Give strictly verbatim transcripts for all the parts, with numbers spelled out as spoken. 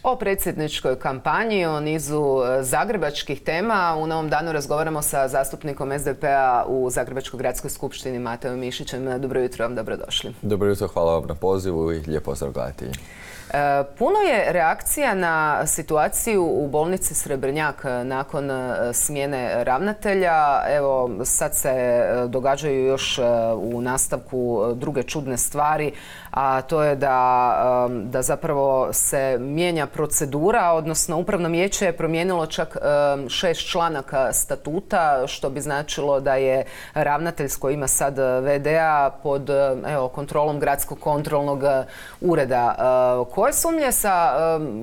O predsjedničkoj kampanji, o nizu zagrebačkih tema. U Novom danu razgovaramo sa zastupnikom S D P-a u Zagrebačkoj gradskoj skupštini Matejom Mišićem. Dobro jutro vam, dobrodošli. Dobro jutro, hvala vam na pozivu i lijep pozdrav gledatelji. Puno je reakcija na situaciju u bolnici Srebrnjak nakon smjene ravnatelja. Evo, sad se događaju još u nastavku druge čudne stvari, a to je da, da zapravo se mijenja procedura, odnosno Upravno vijeće je promijenilo čak šest članaka statuta, što bi značilo da je ravnatelj koji ima sad V D-a pod evo, kontrolom Gradskog kontrolnog ureda. Koje sumnje sa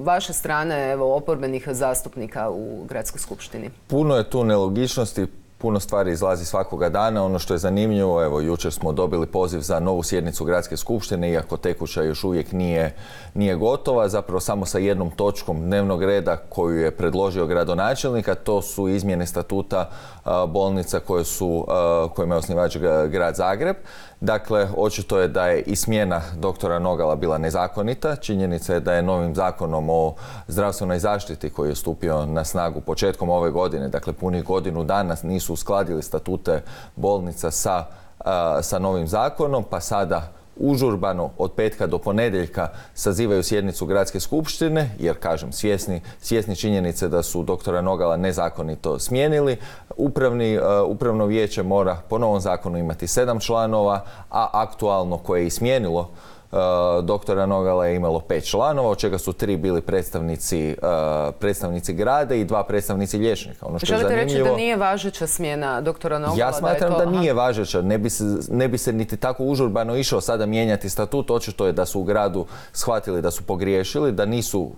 vaše strane evo, oporbenih zastupnika u Gradskoj skupštini? Puno je tu nelogičnosti. Puno stvari izlazi svakoga dana. Ono što je zanimljivo, evo, jučer smo dobili poziv za novu sjednicu Gradske skupštine, iako tekuća još uvijek nije, nije gotova, zapravo samo sa jednom točkom dnevnog reda koju je predložio gradonačelnik, a to su izmjene statuta a, bolnica koje su, a, kojima je osnivač grad Zagreb. Dakle, očito je da je i smjena doktora Nogala bila nezakonita. Činjenica je da je novim zakonom o zdravstvenoj zaštiti koji je stupio na snagu početkom ove godine, dakle punih godinu dana nisu uskladili statute bolnica sa, a, sa novim zakonom, pa sada užurbano od petka do ponedjeljka sazivaju sjednicu Gradske skupštine, jer kažem svjesni, svjesni činjenice da su doktora Nogala nezakonito smijenili. Upravni, uh, upravno vijeće mora po novom zakonu imati sedam članova, a aktualno koje je i smijenilo Uh, doktora Nogala je imalo pet članova, od čega su tri bili predstavnici, uh, predstavnici grada i dva predstavnici liječnika. Ono što Želite je zanimljivo, reći da nije važeća smjena doktora Nogala? Ja smatram da, da, to... da nije važeća. Ne bi, se, ne bi se niti tako užurbano išao sada mijenjati statut. Očito je da su u gradu shvatili da su pogriješili, da nisu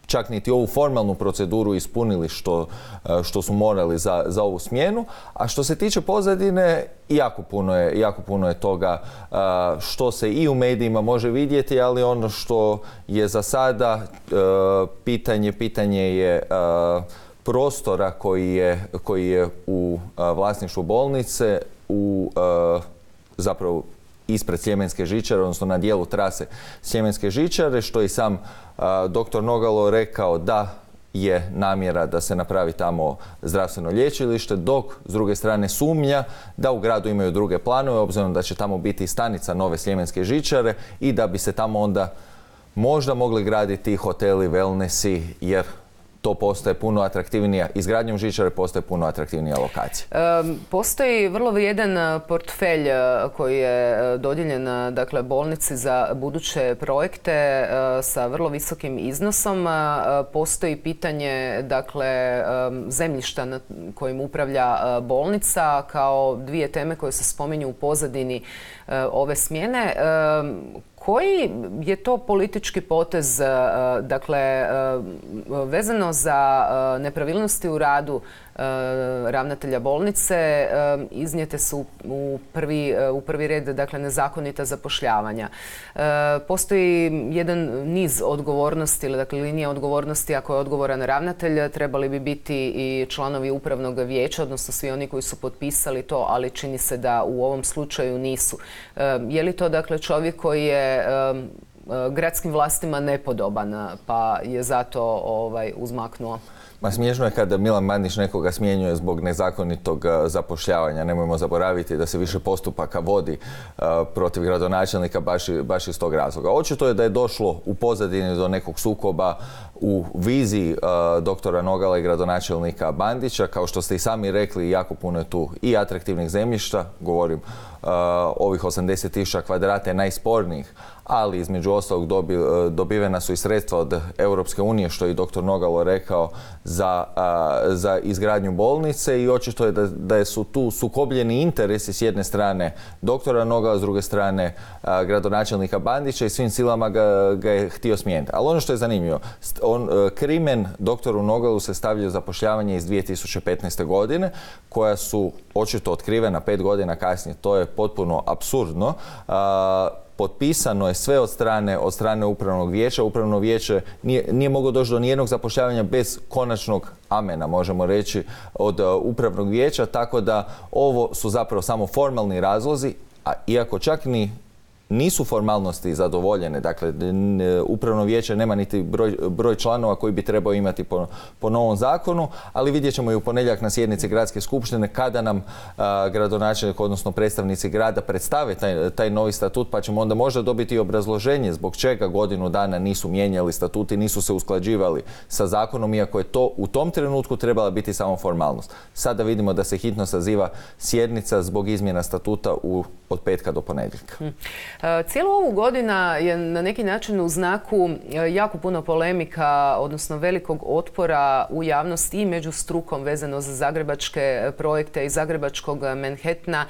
čak niti ovu formalnu proceduru ispunili što, što su morali za, za ovu smjenu. A što se tiče pozadine, jako puno je, jako puno je toga što se i u medijima može vidjeti, ali ono što je za sada pitanje, pitanje je prostora koji je, koji je u vlasništvu bolnice, u zapravo ispred Sljemenske žičare, odnosno na dijelu trase Sljemenske žičare, što i sam a, doktor Nogalo rekao da je namjera da se napravi tamo zdravstveno lječilište, dok s druge strane sumnja da u gradu imaju druge planove, obzirom da će tamo biti stanica nove Sljemenske žičare i da bi se tamo onda možda mogli graditi hoteli, wellnessi, jer to postaje puno atraktivnija, izgradnjom žičare postaje puno atraktivnija lokacija. E, postoji vrlo vrijedan portfelj koji je dodijeljen dakle, bolnici za buduće projekte e, sa vrlo visokim iznosom. E, postoji pitanje dakle, zemljišta na kojim upravlja bolnica kao dvije teme koje se spominju u pozadini e, ove smjene. E, Koji je to politički potez, dakle, vezano za nepravilnosti u radu ravnatelja bolnice, iznijete su u prvi, u prvi red dakle, nezakonita zapošljavanja. Postoji jedan niz odgovornosti, ili dakle, linija odgovornosti. Ako je odgovoran ravnatelj, trebali bi biti i članovi upravnog vijeća, odnosno svi oni koji su potpisali to, ali čini se da u ovom slučaju nisu. Je li to dakle, čovjek koji je gradskim vlastima nepodoban, pa je zato ovaj, uzmaknuo? Ma smiješno je kada Milan Bandić nekoga smjenjuje zbog nezakonitog zapošljavanja. Nemojmo zaboraviti da se više postupaka vodi uh, protiv gradonačelnika baš, baš iz tog razloga. Očito je da je došlo u pozadini do nekog sukoba u viziji uh, doktora Nogala i gradonačelnika Bandića. Kao što ste i sami rekli, jako puno je tu i atraktivnih zemljišta, govorim uh, ovih osamdeset tisuća kvadrata je najspornijih, ali između ostalog dobi, dobivena su i sredstva od Europske unije, što je i doktor Nogalo rekao, za, a, za izgradnju bolnice, i očito je da, da su tu sukobljeni interesi s jedne strane doktora Nogala, s druge strane a, gradonačelnika Bandića, i svim silama ga, ga je htio smijeniti. Ali ono što je zanimljivo, on, krimen doktoru Nogalu se stavljaju zapošljavanje iz dvije tisuće petnaeste. godine, koja su očito otkrivena pet godina kasnije. To je potpuno apsurdno. A, Potpisano je sve od strane, od strane upravnog vijeća. Upravno vijeće nije, nije moglo doći do nijednog zapošljavanja bez konačnog amena, možemo reći, od uh, upravnog vijeća, tako da ovo su zapravo samo formalni razlozi, a iako čak ni nisu formalnosti zadovoljene, dakle upravno vijeće nema niti broj, broj članova koji bi trebao imati po, po novom zakonu, ali vidjet ćemo i u ponedjeljak na sjednici gradske skupštine kada nam a, gradonačelnik, odnosno predstavnici grada predstave taj, taj novi statut, pa ćemo onda možda dobiti i obrazloženje zbog čega godinu dana nisu mijenjali statuti, nisu se usklađivali sa zakonom, iako je to u tom trenutku trebala biti samo formalnost. Sada vidimo da se hitno saziva sjednica zbog izmjena statuta u, od petka do ponedjeljka. Hmm. Cijelu ovu godina je na neki način u znaku jako puno polemika, odnosno velikog otpora u javnosti i među strukom vezano za zagrebačke projekte i zagrebačkog Manhattana,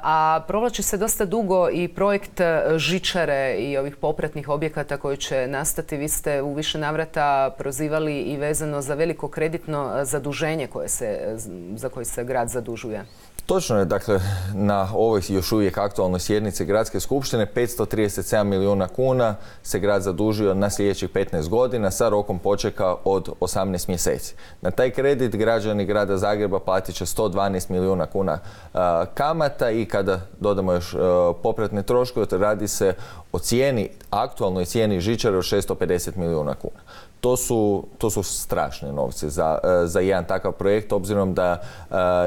a provlači se dosta dugo i projekt žičare i ovih popratnih objekata koji će nastati. Vi ste u više navrata prozivali i vezano za veliko kreditno zaduženje koje se, za koje se grad zadužuje. Točno je, dakle, na ovoj još uvijek aktualnoj sjednici Gradske skupštine petsto trideset sedam milijuna kuna se grad zadužio na sljedećih petnaest godina sa rokom počeka od osamnaest mjeseci. Na taj kredit građani grada Zagreba platit će sto dvanaest milijuna kuna a, kamata i kada dodamo još a, popratne troškove, radi se o cijeni, aktualnoj cijeni žičare od šesto pedeset milijuna kuna. To su, to su strašni novci za, za jedan takav projekt, obzirom da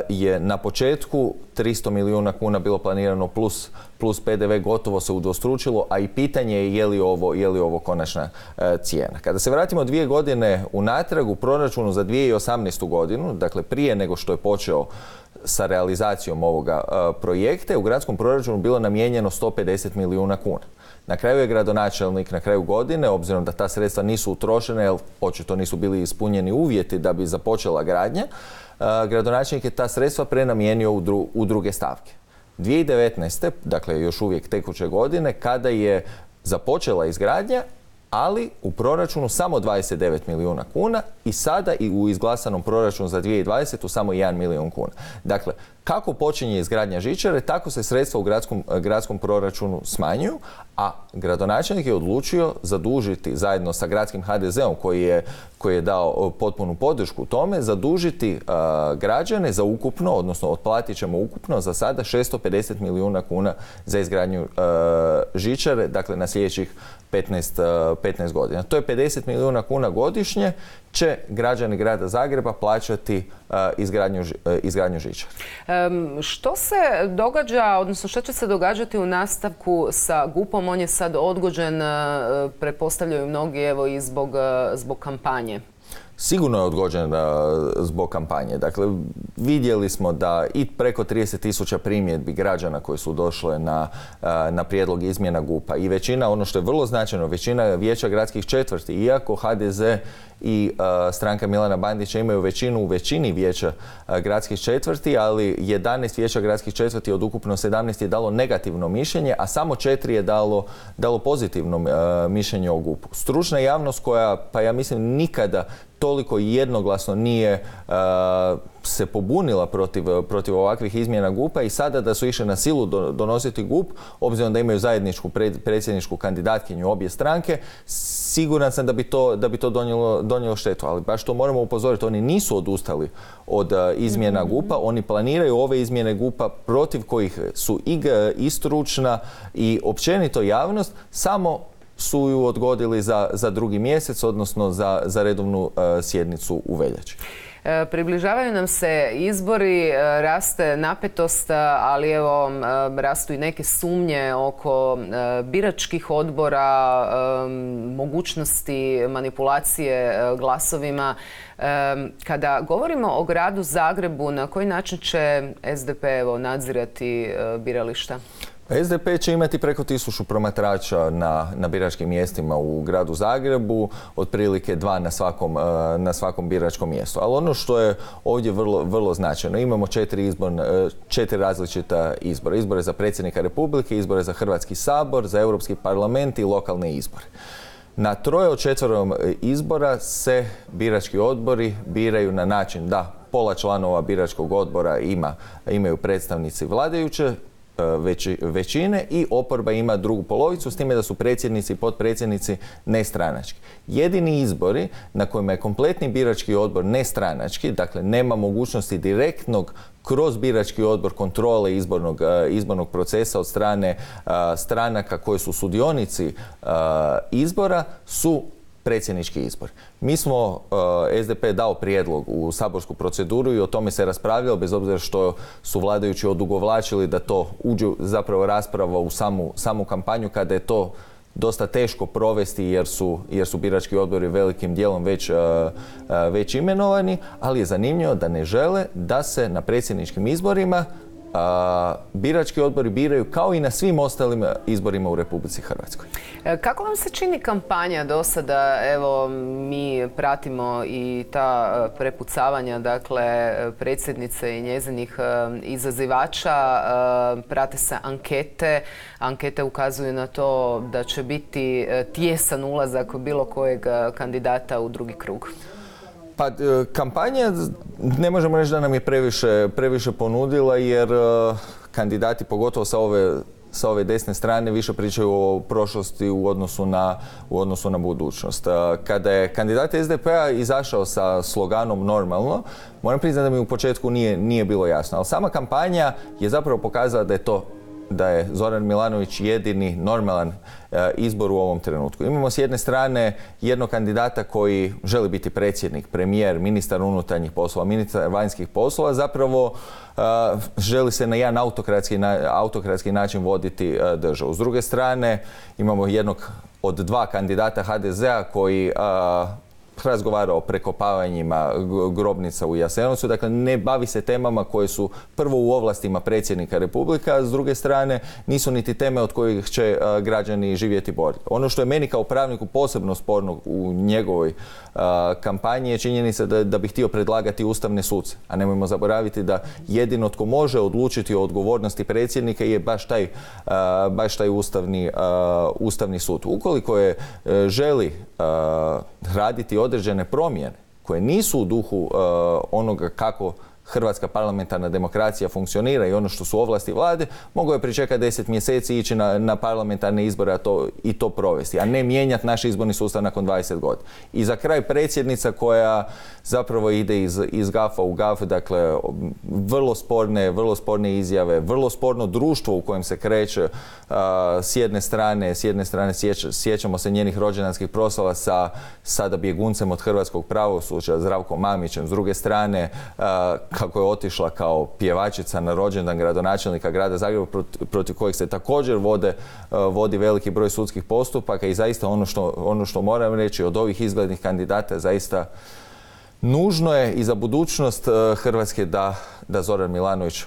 je na početku tristo milijuna kuna bilo planirano plus, plus P D V, gotovo se udvostručilo, a i pitanje je je li ovo, je li ovo konačna cijena. Kada se vratimo dvije godine unatrag, u proračunu za dvije tisuće osamnaestu. godinu, dakle prije nego što je počeo sa realizacijom ovoga projekta, u gradskom proračunu bilo namijenjeno sto pedeset milijuna kuna. Na kraju je gradonačelnik na kraju godine, obzirom da ta sredstva nisu utrošene, jer očito nisu bili ispunjeni uvjeti da bi započela gradnja, gradonačelnik je ta sredstva prenamijenio u, dru, u druge stavke. dvije tisuće devetnaeste. dakle još uvijek tekuće godine, kada je započela izgradnja, ali u proračunu samo dvadeset devet milijuna kuna i sada i u izglasanom proračunu za dvije tisuće dvadesetu. samo jedan milijun kuna. Dakle, kako počinje izgradnja žičare, tako se sredstva u gradskom, gradskom proračunu smanjuju, a gradonačelnik je odlučio zadužiti zajedno sa gradskim H D Z-om koji je, koji je dao potpunu podršku tome, zadužiti uh, građane za ukupno, odnosno otplatit ćemo ukupno za sada šesto pedeset milijuna kuna za izgradnju uh, žičare, dakle na sljedećih petnaest, uh, petnaest godina. To je pedeset milijuna kuna godišnje će građani grada Zagreba plaćati uh, izgradnju, uh, izgradnju žičara. Um, što se događa, odnosno što će se događati u nastavku sa G U P-om? On je sad odgođen, uh, pretpostavljaju mnogi, evo i zbog, uh, zbog kampanje. Sigurno je odgođen uh, zbog kampanje. Dakle, vidjeli smo da i preko trideset tisuća primjedbi građana koji su došle na, uh, na prijedlog izmjena G U P-a i većina, ono što je vrlo značajno, većina vijeća gradskih četvrti, iako H D Z i uh, stranka Milana Bandića imaju većinu u većini vijeća uh, gradskih četvrti, ali jedanaest vijeća gradskih četvrti od ukupno sedamnaest je dalo negativno mišljenje, a samo četiri je dalo, dalo pozitivno uh, mišljenje o G U P-u. Stručna javnost koja, pa ja mislim, nikada toliko jednoglasno nije uh, se pobunila protiv, protiv ovakvih izmjena G U P-a i sada da su išle na silu do, donositi G U P, obzirom da imaju zajedničku pred, predsjedničku kandidatkinju obje stranke, siguran sam da bi to, da bi to donijelo, donijelo štetu. Ali baš to moramo upozoriti, oni nisu odustali od uh, izmjena G U P-a, oni planiraju ove izmjene G U P-a protiv kojih su i, i stručna i općenito javnost, samo su ju odgodili za, za drugi mjesec, odnosno za, za redovnu uh, sjednicu u veljači. E, približavaju nam se izbori, e, raste napetost, ali evo e, rastu i neke sumnje oko e, biračkih odbora, e, mogućnosti manipulacije e, glasovima. E, kada govorimo o gradu Zagrebu, na koji način će S D P evo, nadzirati e, birališta? S D P će imati preko tisuću promatrača na, na biračkim mjestima u gradu Zagrebu, otprilike dva na svakom, na svakom biračkom mjestu. Ali ono što je ovdje vrlo, vrlo značajno, imamo četiri, izbor, četiri različita izbora. Izbore za predsjednika Republike, izbore za Hrvatski sabor, za Europski parlament i lokalne izbore. Na troje od četvrtom izbora se birački odbori biraju na način da pola članova biračkog odbora ima, imaju predstavnici vladajuće većine i oporba ima drugu polovicu, s time da su predsjednici i potpredsjednici nestranački. Jedini izbori na kojima je kompletni birački odbor nestranački, dakle nema mogućnosti direktnog kroz birački odbor kontrole izbornog, izbornog procesa od strane stranaka koji su sudionici izbora, su predsjednički izbor. Mi smo, uh, S D P dao prijedlog u saborsku proceduru i o tome se raspravljalo, bez obzira što su vladajući odugovlačili da to uđe zapravo rasprava u samu, samu kampanju, kada je to dosta teško provesti jer su, jer su birački odbori velikim dijelom već, uh, uh, već imenovani, ali je zanimljivo da ne žele da se na predsjedničkim izborima A, birački odbori biraju kao i na svim ostalim izborima u Republici Hrvatskoj. Kako vam se čini kampanja do sada? Evo, mi pratimo i ta prepucavanja, dakle, predsjednice i njezinih izazivača. Prate se ankete. Ankete ukazuju na to da će biti tijesan ulazak bilo kojeg kandidata u drugi krug. Pa kampanja ne možemo reći da nam je previše, previše ponudila, jer kandidati, pogotovo sa ove, sa ove desne strane, više pričaju o prošlosti u odnosu na, u odnosu na budućnost. Kada je kandidat S D P-a izašao sa sloganom normalno, moram priznati da mi u početku nije, nije bilo jasno, ali sama kampanja je zapravo pokazala da je to da je Zoran Milanović jedini normalan e, izbor u ovom trenutku. Imamo s jedne strane jednog kandidata koji želi biti predsjednik, premijer, ministar unutarnjih poslova, ministar vanjskih poslova, zapravo e, želi se na jedan autokratski, na, autokratski način voditi e, državu. S druge strane imamo jednog od dva kandidata H D Z-a koji e, razgovara o prekopavanjima grobnica u Jasenovcu, dakle ne bavi se temama koje su prvo u ovlastima predsjednika Republike, a s druge strane nisu niti teme od kojih će uh, građani živjeti bolje. Ono što je meni kao pravniku posebno sporno u njegovoj uh, kampanji je činjenica da, da bi htio predlagati ustavne suce, a nemojmo zaboraviti da jedino tko može odlučiti o odgovornosti predsjednika je baš taj, uh, baš taj ustavni, uh, ustavni sud. Ukoliko je uh, želi uh, raditi određene promjene koje nisu u duhu uh, onoga kako hrvatska parlamentarna demokracija funkcionira i ono što su ovlasti vlade, mogao je pričekati deset mjeseci i ići na, na parlamentarne izbore a to, i to provesti, a ne mijenjati naš izborni sustav nakon dvadeset godina. I za kraj predsjednica koja zapravo ide iz, iz gafa u gaf, dakle vrlo sporne, vrlo sporne izjave, vrlo sporno društvo u kojem se kreće uh, s jedne strane, s jedne strane sječ, sjećamo se njenih rođendanskih proslava sa sada bjeguncem od hrvatskog pravosuđa Zdravkom Mamićem, s druge strane uh, kako je otišla kao pjevačica na rođendan gradonačelnika grada Zagreba protiv kojeg se također vode, vodi veliki broj sudskih postupaka i zaista ono što, ono što moram reći od ovih izglednih kandidata zaista nužno je i za budućnost Hrvatske da, da Zoran Milanović,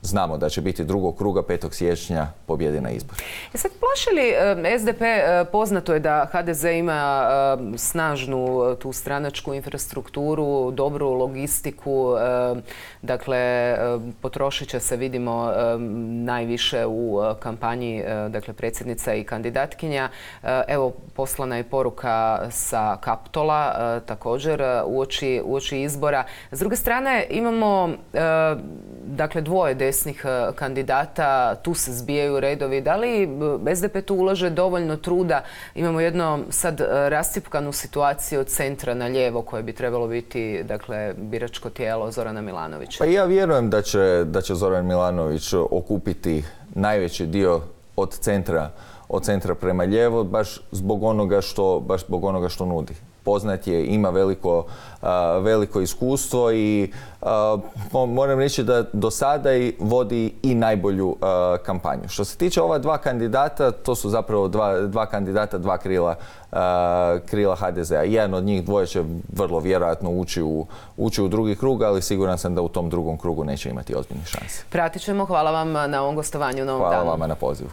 znamo da će biti drugog kruga petog siječnja pobjedi na izbor. E sad, plaši li S D P, poznato je da H D Z ima snažnu tu stranačku infrastrukturu, dobru logistiku, dakle potrošit će se, vidimo, najviše u kampanji, dakle predsjednica i kandidatkinja. Evo, poslana je poruka sa Kaptola također uoči, uoči izbora. S druge strane imamo dakle dvoje desnih kandidata, tu se zbijaju redovi. Da li S D P tu ulaže dovoljno truda? Imamo jedno sad rascjepkanu situaciju od centra na lijevo koje bi trebalo biti, dakle, biračko tijelo Zorana Milanovića. Pa ja vjerujem da će, da će Zoran Milanović okupiti najveći dio od centra, od centra prema lijevo, baš zbog onoga što, baš zbog onoga što nudi. Poznat je, ima veliko, a, veliko iskustvo i a, moram reći da do sada i vodi i najbolju a, kampanju. Što se tiče ova dva kandidata, to su zapravo dva, dva kandidata, dva krila, a, krila H D Z-a. Jedan od njih dvoje će vrlo vjerojatno ući u, ući u drugi krug, ali siguran sam da u tom drugom krugu neće imati ozbiljne šanse. Pratit ćemo. Hvala vam na ovom gostovanju u Novom Danu. Hvala vama na pozivu.